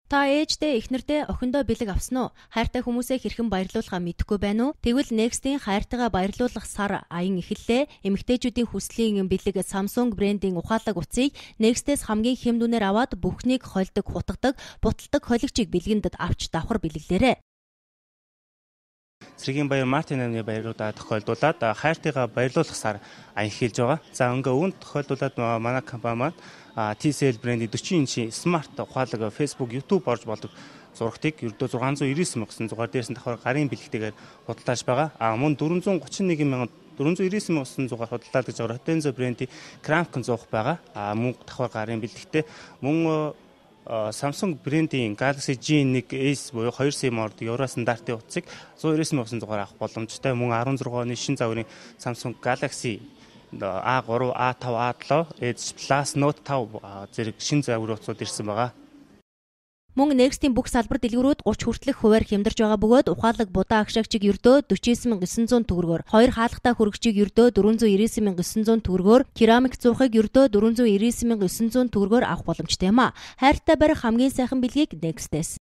Та ээждээ, эхнэрдээ, охиндоо бэлэг авсан уу? Хайртай хүмүүсээ хэрхэн баярлуулахаа мэдэхгүй байна уу? Тэгвэл Next-ийн хайртайгаа баярлуулах сар аян эхэллээ. Эмэгтэйчүүдийн хүслийн бэлэг Samsung брендийн ухаалаг утсыг Next-ээс хамгийн хямдүнээр аваад бүхнийг холдог, хутгадаг, буталдаг холигчийг бэлгэндд авч давхар бэлгэлээрэй. Цэргийн баяр Мартин амны баяруудаа тохиолдуулаад хайртайгаа баярлуулах сар аян эхэлж байгаа. За ингээ үүнд тохиолдуулаад манай компани маань TCL брендийн 40 инчийн смарт ухаалаг Facebook, YouTube орж болдог зурагтыг ердөө 699,900 дээрс нь давхар гарын бэлэгтэйгээр худалдааж байгаа. Мөн 431,499,900 худалдаад гэж байгаа Hotenzo брендийн Cramp 100 байгаа. Мөн давхар гарын бэлэгтэй мөн Samsung брендийн Galaxy J1 Ace буюу 2 SIM ордог евро стандартын утсыг 199,900-аар авах боломжтой. Мөн 16 оны шинэ загварын Samsung Galaxy A3, A5, A7, Edge Plus, Note 5 зэрэг шинэ загварын утсууд ирсэн байгаа. Мөн Next-ийн бүх салбар дэлгүүрүүд 30 хүртэлх хувиар хямдарч байгаа бөгөөд ухаалаг будаа агшаагчийг ердөө 49,900 төгрөгөөр, хоёр хаалгатай хүрэгчийг ердөө 499,900 төгрөгөөр, керамик зуухыг ердөө 499,900 төгрөгөөр авах боломжтой юм а. Хайртай барих хамгийн сайхан бэлгийг Next-ээс.